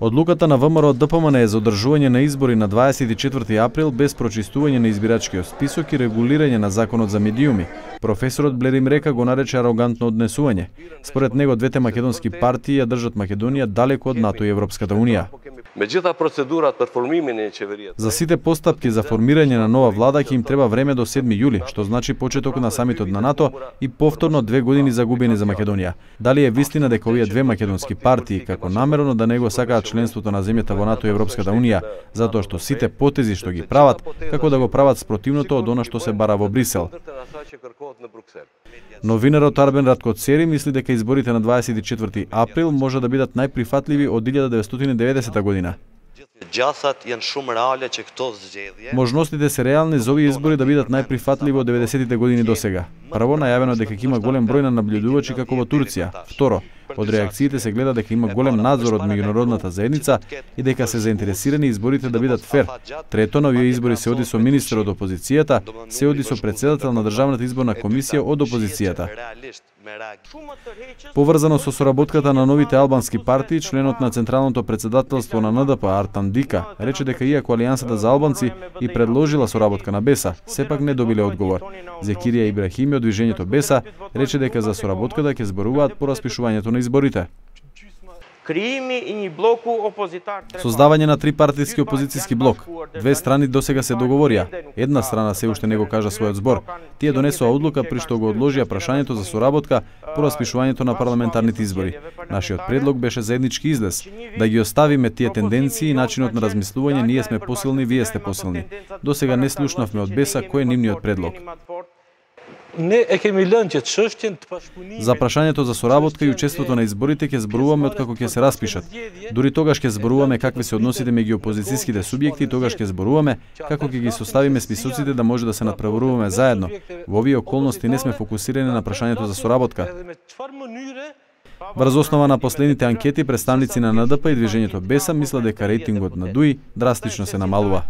Одлуката на ВМРО-ДПМН за одржување на избори на 24 април без прочистување на избирачкиот список и регулирање на законот за медиуми, професорот Блерим Река го нарече арогантно однесување. Според него двете македонски партии ја држат Македонија далеку од НАТО и Европската унија. За сите постапки за формирање на нова влада ќе им треба време до 7 јули, што значи почеток на самитот на НАТО и повторно 2 години загубени за Македонија. Дали е вистина дека овие две македонски партии како намерно да не го сакаат членството на земјата во НАТО и Европската унија, затоа што сите потези што ги прават, како да го прават спротивното од она што се бара во Брисел. Новинарот Арбен Раткоцери мисли дека изборите на 24 април може да бидат најприфатливи од 1990 година. Можностите се реални за овие избори да бидат најприфатливи од 90-тите години до сега. Прво, најавено дека ќе има голем број на наблюдувачи како во Турција. Второ, од реакциите се гледа дека има голем надзор од меѓународната заедница и дека се заинтересирани изборите да бидат фер. Трето, на овие избори се оди со министер од опозицијата, се оди со председател на Државната изборна комисија од опозицијата. Поврзано со соработката на новите албански партии, членот на Централното председателство на НДП Артан Дика рече дека иако Алијансата за албанци и предложила соработка на БЕСА, сепак не добиле одговор. Зекирија Ибрахими од движењето БЕСА рече дека за соработката ќе зборуваат по распишувањето на изборите. Создавање на трипартиски опозицијски блок. Две страни досега се договорија. Една страна се уште не го кажа својот збор. Тие донесоа одлука при што го одложија прашањето за соработка по распишувањето на парламентарните избори. Нашиот предлог беше заеднички излез, да ги оставиме тие тенденции и начинот на размислување, ние сме посилни, вие сте посилни. Досега не слушнавме од БЕСА кој е нивниот предлог. За прашањето за соработка и учеството на изборите ќе зборуваме откако ќе се распишат. Дури тогаш ќе зборуваме какви се односите меѓу опозицијските субјекти, тогаш ќе зборуваме како ќе ги составиме списоците да може да се надпреваруваме заедно. Во овие околности не сме фокусирани на прашањето за соработка. Врз основа на последните анкети, представници на НДП и движењето БЕСА мислат дека рейтингот на ДУИ драстично се намалува.